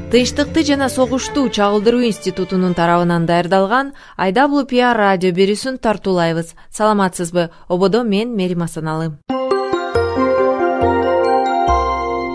Тынчтыкты жана согушту чагылдыруу институтунун тарабынан даярдалган IWPR радио берүүсүн тартуулайбыз. Саламатсызбы? Ободо мен Мерим Асаналы.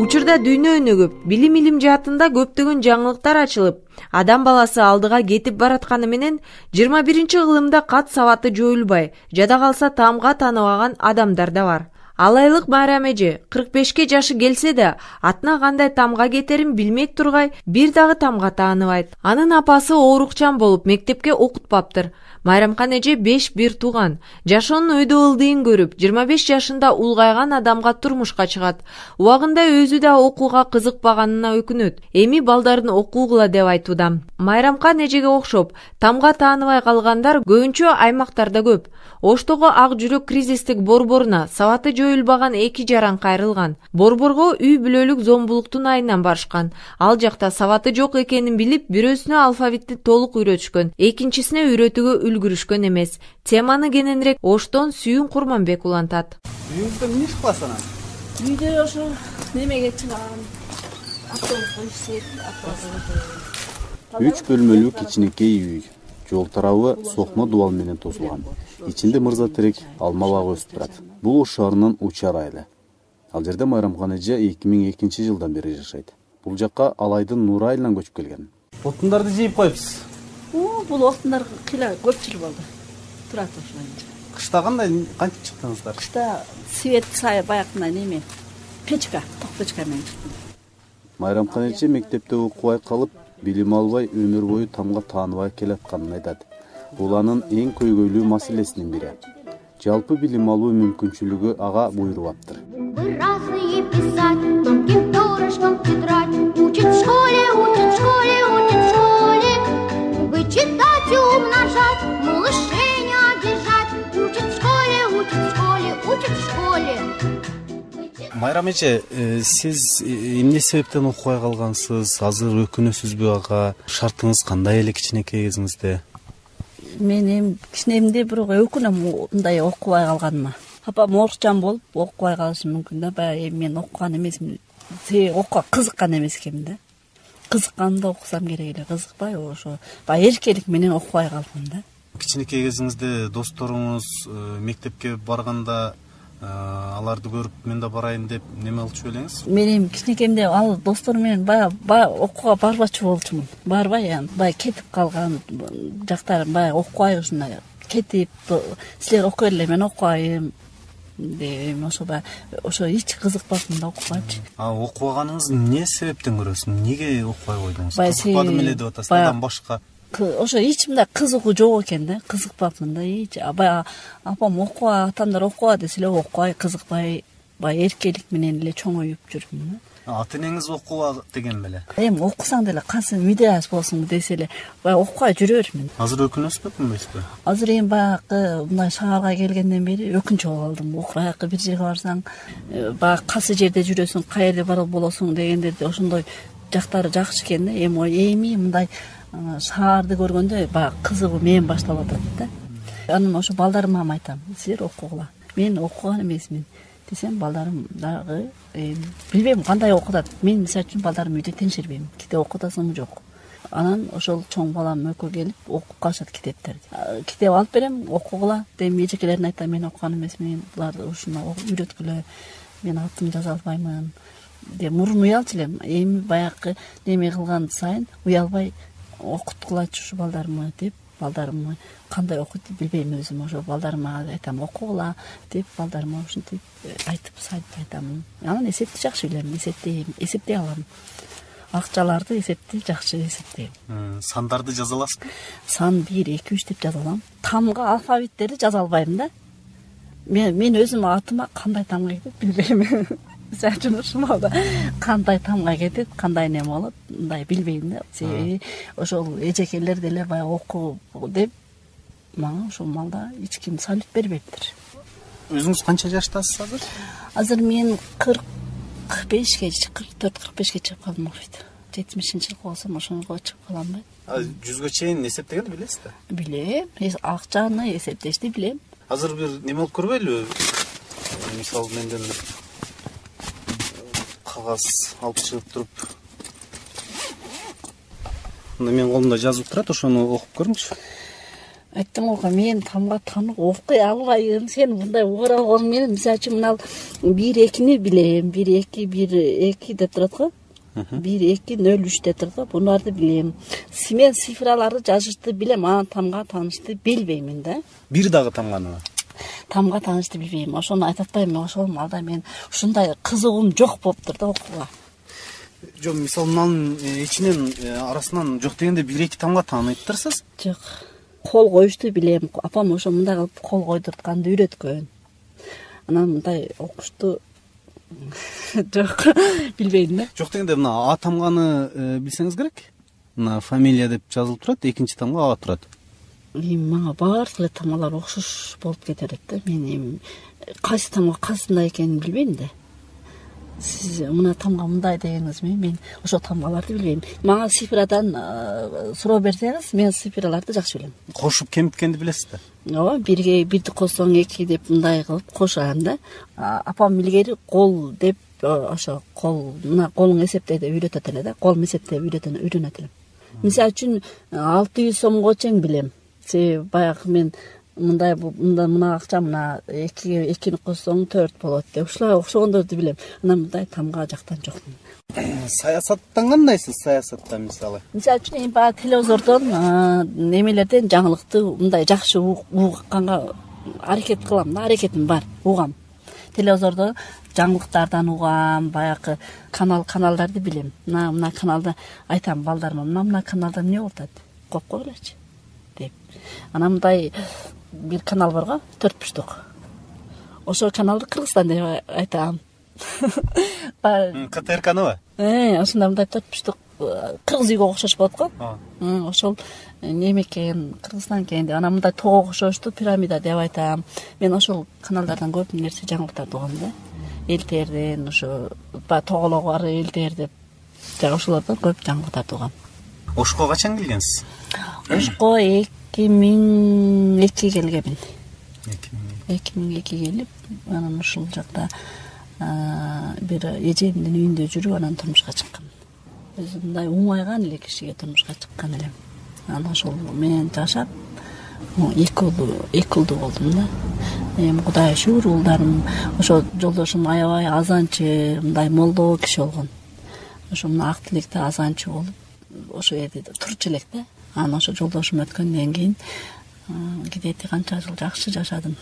Учурда дүйнө өнүгүп, билим жаатында көптөгөн жаңылыктар ачылып, адам баласы алдыга кетип баратканы менен 21-кылымда кат сабаты жоюлбай, жада калса таамга тааныбаган адамдар да бар. Алайлык Майрам эже 45 жашы келсе да, атына кандай тамга кетерин билмей тургай, бир дагы тамга тааныбайт. Анын апасы оорукчан болуп, мектепке окутпаптыр. Майрамкан эже 5 бир тууган. Жашоонун өйдө ылдыйын көрүп, 25 жашында улгайган адамга турмушка чыгат. Убагында өзү да окууга кызыкпаганына өкүнөт. Эми балдарын окуугула деп айтууда. Майрамкан эжеге окшоп, тамга тааныбай калгандар көбүнчө аймактарда көп. Оштогу ак жүрөк кризистик борборуна сабаты жоюлбаган 2 жаран кайрылган. Борборго үй бүлөлүк зомбулуктун айынан барышкан. Ал жакта сабаты жок экенин билип, бирөөсүнө алфавитти толук үйрөтүшкөн, экинчисине үйрөтүүгө үлгүрүшкөн эмес. Теманы кененирээк Оштон Сүйүн Курманбек улантат. Үйүңүздө эмне иш кыласың анан? Үйдө ошо немеге чыгам. Автобуска ишсек, автобуска. 3 бөлмөлүү кичинекей үй. Жол тарабы сокмо дубал менен тосулган. Ичинде мырза терек алма багы өсүп турат. Бул Ош шаарынын Учар айылы. Ал жерде Майрамкан эже 2002 жылдан бери жашайт. Бул жакка Алайдын Нур айылынан көчүп келген. Отундарды жыйып коюпсуз. Бул отундар кыйла көп жыл болду. Турат ошондо. Кышта кандай кантип чыктыңыздар? Кышта свет сай баягындай неме. Печка, ток печка менен чыктым. Майрамкан эже мектепте окубай калып, билим албай өмүр бою тамга тааныбай келатканын айтат. Бул анын эң көйгөйлүү маселесинин бири. Жалпы билим алуу мүмкүнчүлүгү ага буйрубаптыр. Майрам эже, сиз эмне себептен окубай калгансыз? Азыр өкүнөсүзбү ага? Шартыңыз кандай эле кичинекей кезиңизде? Мен эми кичинемде бирок өкүнөм мындай окубай калганыма. Апам оорукчан болуп окубай калышы мүмкүн да. Баягы мен окуган эмесмин. Окууга кызыккан эмес экенмин да. Кызыкканда окусам керек эле, кызыкпай ошо баягы эркелик менен окубай калдым да. Кичинекей кезиңизде досторуңуз мектепке барганда аларды көрүп мен да барайын деп неме кылчу белеңиз? Мен эми кичинекемде ал досторум менен баягы окууга барбачу болчумун. Барбай баягы кетип калган жактарым баягы окубай ушундай кетип, силер окуй эле, мен окубайм деп ошо эч кызыкпаптым да окугачы. Окубаганыңызды эмне себептен көрөсүз? Эмнеге окубай койдуңуз? Кызыкпадым эле деп атасыз, андан башка? Ошо ичимде кызыгуу жок экен да, кызыкпапмын да. Баягы апам окуба, атамдар окуба десе эле окубай, кызыкпай, баягы эркелик менен эле чоңоюп жүрмүн да. Ата энеңиз окуба деген беле? Эми окусаң деле кайсы видеос болсун десе эле баягы окубай жүрө бермин. Азыр өкүнөсүзбү, өкүнбөйсүзбү? Азыр эми баягы мындай шаарга келгенден бери өкүнчү болуп алдым. Баягы бир жерге барсаң, баягы кайсы жерде жүрөсүң, кай жерде бар болосуң дегендерде ошондой жактары жакшы экен да. Эми мындай шаарды көргөндө баягы кызыгуу мен башталып атат да. Анан ошо балдарыма айтам, силер окугула. Мен окуган эмесмин десем, балдарым дагы билбейм кандай окутат. Мен мисалы үчүн балдарым үйдө теңшербейм. Китеп окутасыңбы жок. Анан ошол чоң балам экөө келип окуп калышат китептерди. Китеп алып берем, окугула деп эжекелерине айтам, мен окуган эмесмин. Буларды ушуну үйрөткүлө. Мен атын жаза албаймын деп мурун уялчу элем. Эми баягы неме кылган сайын уялбай окуткулачы ушу балдарымы деп, балдарымы кандай окуйт билбейм өзүм. Ошо балдарыма айтам, окугула деп, балдарыма ушинтип айтып айтам. Анан эсепти жакшы билем, эсептей алам. Акчаларды жакшы эсептейм. Сандарды жаза аласызбы? Сан 1, 2, 3 деп жаза алам. Тамга алфавиттерди жаза албайм да. Мен өзүм атыма кандай тамга кетет билбейм. Мисалы үчүн ушумалда кандай тамга кетет, кандай неме болот, мындай билбейм да. Ошол эжекелер деле баягы окуу деп мага ошол малда эч ким салют бербептир. Өзүңүз канча жаштасыз азыр? Азыр мен 44-45 чыгып калдым окуйт. 70-жылкы болсом ошого чыгып каламбы? 100гө чейин эсептегенди билесиз да? Билем. Акчаны эсептешти билем. Азыр бир неме болуп көрбөйлү? Мисалы менден кагаз алып чыгып туруп Менин колумда жазылып турат, ошону окуп көрүңүзчү. Айттым го, мен тамга таанып окуй албайм. Сен мындай угара алган менен, мисалы үчүн мына 1-2-ни билем. 1-2 деп турат го. 1-2-0-3 деп турат го. Буларды билем. Мен цифраларды жазышты билем, анан тамга таанышты билбеймин да. Бир дагы тамганыбы? Тамга таанышты билбейм. Ошону айтып атпайм, ошол малда мен ушундай кызыгуум жок болуптур да окууга. Жок, мисалы мынанын ичинен арасынан жок дегенде 1-2 тамга тааныйттырсыз? Жок. Кол коюшту билем. Апам ошо мындай кылып кол койдуртканды үйрөткөн. Анан мындай окушту жок, билбейм да. Жок дегенде мына А тамганы билсеңиз керек. Мына фамилия деп жазылып турат, экинчи тамга А турат. Мага баардык эле тамгалар окшош болуп кетет да. Мен эми кайсы тамга кайсында экенин билбейм да. Сиз мына тамга мындай дегениңиз менен мен ошол тамгаларды билбейм. Мага цифрадан суроо берсеңиз, мен цифраларды жакшы билем. Кошуп кемиткенди билесиз да? Ооба, 1 койсоң 2 деп мындай кылып кошам да. Апам илгери кол деп ошо кол, мына колуң эсептейди деп үйрөтөт эле да. Кол эсептеп үйрөнөт эле. Мисалы үчүн 600 сомго чейин билем. Баягы мен мындай мына акча мына 2-ни койсоң 4 болот деп ушулай окшогондорду билем. Анан мындай тамга жактан жокмун. Саясаттан кандайсыз? Саясаттан мисалы үчүн эми баягы телевизордон немелерден жаңылыкты мындай жакшы уганга аракет кылам да, аракетим бар, угам. Телевизордо жаңылыктардан угам, баягы каналдарды билем. Мына каналда айтам балдарыма, мына каналда эмне болуп атат? Коп койгулачы деп. Анан мындай бир канал бар го, 4 бурчтук. Ошол каналды Кыргызстан деп айтам. КТРКныбы? Ошондой мындай 4 бурчтук кыргыз үйгө окшош болот го. Ошол неме экен, Кыргызстан экен деп. Анан мындай тоого окшошту пирамида деп айтам. Мен ошол каналдардан көп нерсе жаңылыктарды угам да. ЛТРден ошо тоголого бар ЛТР деп ошолордон көп жаңылыктарды угам. Ошко качан келгенсиз? Ошко 2002 келгенмин. 2002 келип, анан ушул жакта бир эжемдин үйүндө жүрүп, анан турмушка чыккан. Өзүм мындай уңайган эле кишиге турмушка чыккан элем. Анан ошол менен жашап, 2 ұлды болдум да. Эми Кудайга шүгүр, улдарым, ошо жолдошум аябай азанчы, мындай молдоо киши болгон. Ошо мына ак тилекте азанчы болуп, ошо жерде турчу элек да. Анан ошо жолдошум өткөндөн кийин кидети канча жыл жакшы жашадым.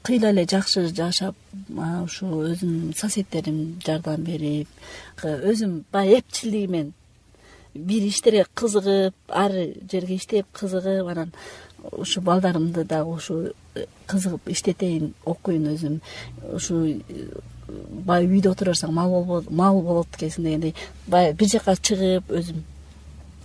Кыйла эле жакшы жашап, ушу өзүм соседтерим жардам берип, өзүм баягы эпчилдигимен бир иштерге кызыгып, ар жерге иштеп кызыгып, анан ушу балдарымды да ушу кызыгып иштетейин, окуйн өзүм. Ушу баягы үйдө отура берсең мал болот экенсиң дегендей, баягы бир жака чыгып өзүм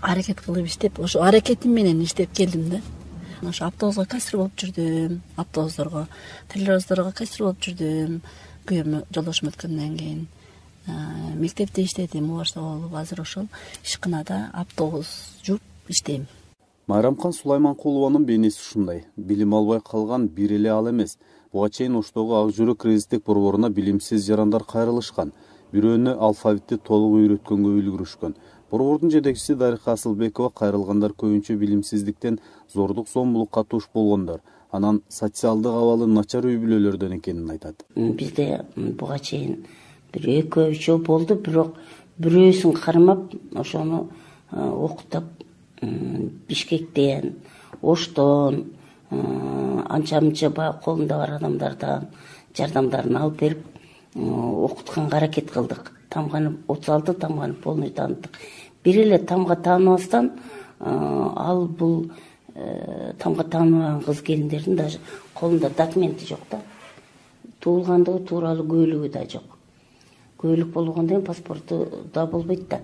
аракет кылып иштеп, ошо аракетим менен иштеп келдим да. Ошо автобуска кассир болуп жүрдүм, автобустарга, телевизорго кассир болуп жүрдүм. Күйөөм жолдошум өткөндөн кийин мектепте иштедим, убарса болуп, азыр ошол ишканада автобус жууп иштейм. Майрамкан Сулайманкулованын бейнеси ушундай. Билим албай калган бир эле ал эмес. Буга чейин Оштогу Ак жүрөк кризистик борборуна билимсиз жарандар кайрылышкан. Бирөөнү алфавитти толук үйрөткөнгө үлгүрүшкөн. Борбордун жетекчиси Дарика Асылбекова кайрылгандар көбүнчө билимсиздиктен зордук зомбулукка туш болгондор, анан социалдык абалы начар үй бүлөлөрдөн экенин айтат. Бизде буга чейин бир 2-3 болду, бирок бирөөсүн кармап, ошону окутуп Бишкектен, Оштон, анча-мынча баягы колунда бар адамдардан жардамдарын алып берип окутканга аракет кылдык. Тамганы 36 тамганы полный тааныттык. Бир эле тамга тааныбастан ал бул тамга тааныбаган кыз келиндердин даже колунда документи жок да. Туулгандыгы тууралуу куөлүгү да жок. Куөлүк болгондон кийин паспорту да болбойт да.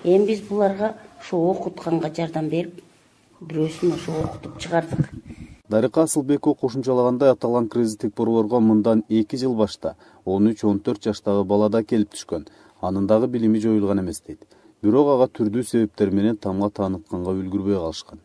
Эми биз буларга ушу окутканга жардам берип, бирөөсүн ушу окутуп чыгардык. Дарика Асылбекова кошумчалагандай, аталган кризистик борборго мындан 2 жыл башта 13-14 жаштагы бала да келип түшкөн. Анын дагы билими жоюлган эмес дейт. Бирок ага түрдүү себептер менен тамга таанытканга үлгүрбөй калышкан.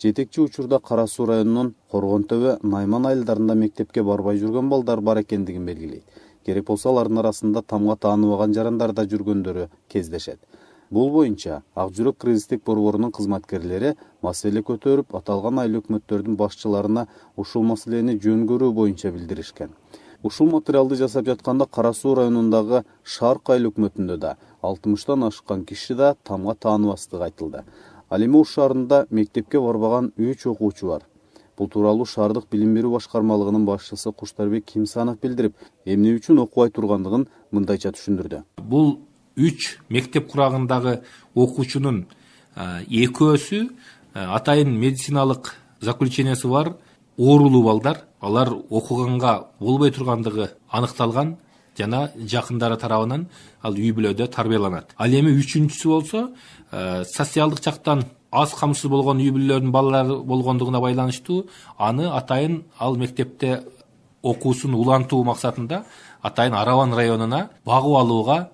Жетекчи учурда Кара Суу районунун Коргонтөбө, Найман айылдарында мектепке барбай жүргөн балдар бар экендигин белгилейт. Керек болсо алардын арасында тамга тааныбаган жарандар да жүргөндөрү кездешет. Бул боюнча Ак жүрөк кризистик борборунун кызматкерлери маселе көтөрүп, аталган айыл өкмөттөрдүн башчыларына ушул маселени жөн көрүү боюнча билдиришкен. Ушул материалды жасап жатканда Кара Суу районундагы Шарк айыл өкмөтүндө да 60тан ашкан киши да тамга тааныбастыгы айтылды. Ал эми Ош шаарында мектепке барбаган 3 окуучу бар. Бул тууралуу шаардык билим берүү башкармалыгынын башчысы Куштарбек Кимсанов билдирип, эмне үчүн окубай тургандыгын мындайча түшүндүрдү. Бул 3 мектеп курагындагы окуучунун экөөсү атайын медициналык заключениясы бар оорулуу балдар. Алар окуганга болбой тургандыгы аныкталган жана жакындары тарабынан ал үй бүлөдө тарбияланат. Ал эми үчүнчүсү болсо социалдык жактан аз камсыз болгон үй бүлөлөрдүн балалары болгондугуна байланыштуу аны атайын ал мектепте окуусун улантуу максатында атайын Арабан районуна багып алууга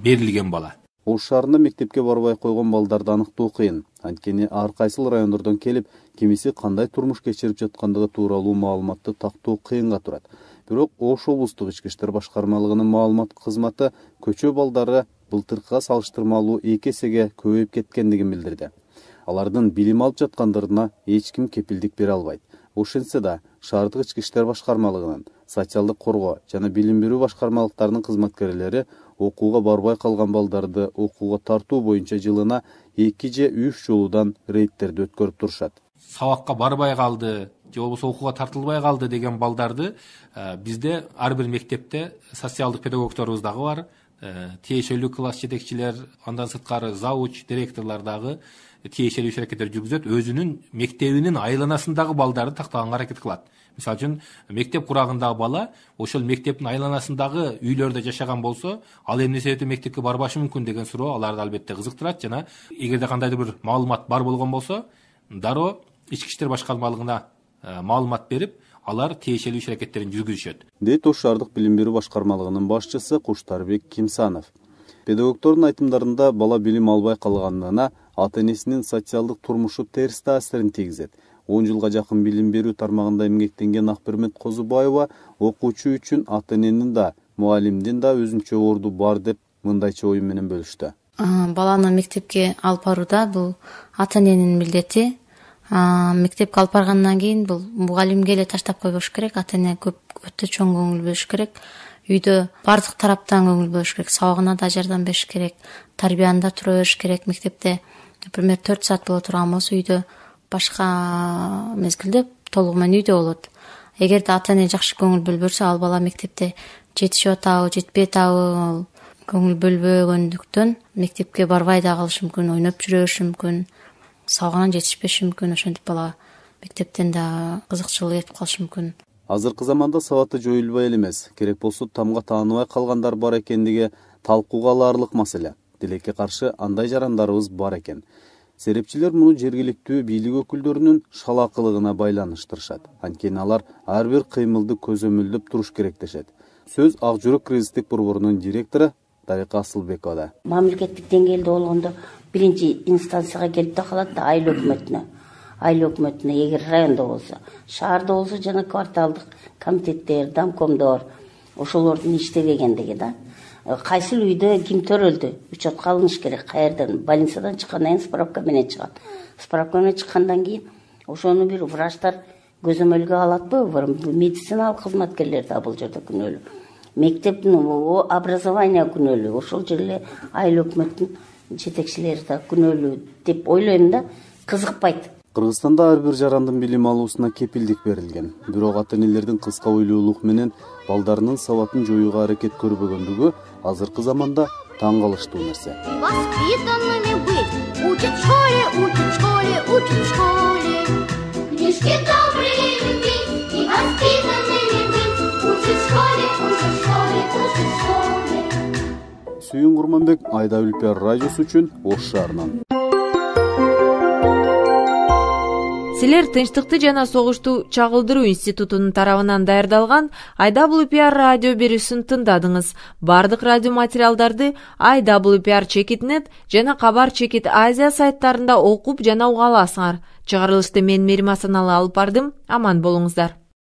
берилген бала. Ош шаарында мектепке барбай койгон балдарды аныктоо кыйын. Анткени ар кайсыл райондордон келип, кимиси кандай турмуш кечирип жаткандыгы тууралуу маалыматты тактоо кыйынга турат. Бирок Ош облустук ички иштер башкармалыгынын маалымат кызматы көчө балдары былтыркыга салыштырмалуу 2 эсеге көбөйүп кеткендигин билдирди. Алардын билим алып жаткандарына эч ким кепилдик бере албайт. Ошентсе да шаардык ички иштер башкармалыгынын, социалдык коргоо жана билим берүү башкармалыктарынын кызматкерлери окууга барбай калган балдарды окууга тартуу боюнча жылына 2 же 3 жолудан рейдтерди өткөрүп турушат. Сабакка барбай калды же болбосо окууга тартылбай калды деген балдарды бизде ар бир мектепте социалдык педагогторубуз дагы бар, тиешелүү класс жетекчилер, андан сырткары завуч, директорлор дагы тиешелүү иш-аракеттер жүргүзөт. Өзүнүн мектебинин айланасындагы балдарды тактаганга аракет кылат. Мисалы үчүн мектеп курагындагы бала ошол мектептин айланасындагы үйлөрдө жашаган болсо, ал эмне себептен мектепке барбашы мүмкүн деген суроо аларды албетте кызыктырат жана эгерде кандайдыр бир маалымат бар болгон болсо, дароо ички иштер башкармалыгына маалымат берип, алар тиешелүү иш-аракеттерин жүргүзүшөт. Дейт Ош шаардык билим берүү башкармалыгынын башчысы Куштарбек Кимсанов. Педагогтордун айтымдарында бала билим албай калганына ата-энесинин социалдык турмушу терс таасирин тийгизет. 10 жылга жакын билим берүү тармагында эмгектенген Акбермет Козубаева окуучу үчүн ата-эненин да, мугалимдин да өзүнчө орду бар деп мындайча ою менен бөлүштү. Баланы мектепке алып барууда бул ата-эненин милдети. Мектепке алып баргандан кийин бул мугалимге эле таштап койбош керек. Ата-эне өтө чоң көңүл бөлүш керек. Үйдө бардык тараптан көңүл бөлүш керек. Сабагына да жардам бериш керек. Тарбияны тура бериш керек. Мектепте, например, 4 саат боло турган болсо, үйдө башка мезгилде толугу менен үйдө болот. Эгерде ата-эне жакшы көңүл бөлбөсө, ал бала мектепте жетишип атабы, жетпей атабы, көңүл бөлбөгөндүктөн мектепке барбай да калышы мүмкүн, ойноп жүрө бериши мүмкүн, сабагына жетишпеши мүмкүн. Ошентип бала мектептен да кызыкчылыгы кетип калышы мүмкүн. Азыркы заманда сабаты жоюлбай эле эмес, керек болсо тамга тааныбай калгандар бар экендиги талкууга алаарлык маселе. Тилекке каршы андай жарандарыбыз бар экен. Серепчилер муну жергиликтүү бийлик өкүлдөрүнүн шалакылыгына байланыштырышат. Анткени алар ар бир кыймылды көзөмөлдөп туруш керек дешет. Сөз Ак жүрөк кризистик борборунун директору Дарика Асылбековада. Мамлекеттик деңгээлде болгондо биринчи инстанцияга келип да калат да айыл өкмөтүнө. Айыл өкмөтүнө эгер райондо болсо, шаарда болсо жана кварталдык комитеттер, домкомдор ошолордун иштебегендиги да. Кайсыл үйдө ким төрөлдү, учетка алыныш керек. Каерден больницадан чыккандан кийин справка менен чыгат. Справка менен чыккандан кийин ошону бир врачтар көзөмөлгө алатпы? Медициналык кызматкерлер да бул жерде күнөөлүү. Мектептин образование күнөөлүү. Ошол жерде айыл өкмөттүн жетекчилери да күнөөлүү деп ойлойм да, кызыкпайт. Кыргызстанда ар бир жарандын билим алуусуна кепилдик берилген. Бирок ата-энелердин кыска ойлуулук менен балдарынын сабатын жоюуга аракет көрбөгөндүгү азыркы заманда таң калыштуу нерсе. Воспитанными быть, учат в школе, учат в школе, учат в школе. Книжки добрые любить и воспитанными быть, учат в школе, учат в школе, учат в школе. Сүйүн Курманбек, Айда Үлпиар радиосу үчүн Ош шаарынан. Силер Тынчтыкты жана согушту чагылдыруу институтунун тарабынан даярдалган IWPR радио берүүсүн тыңдадыңыз. Бардык радио материалдарды IWPR.net жана Кабар Чекит Азия сайттарында окуп жана уга аласыңар. Чыгарылышты мен Мерим Асаналы алып бардым. Аман болуңуздар.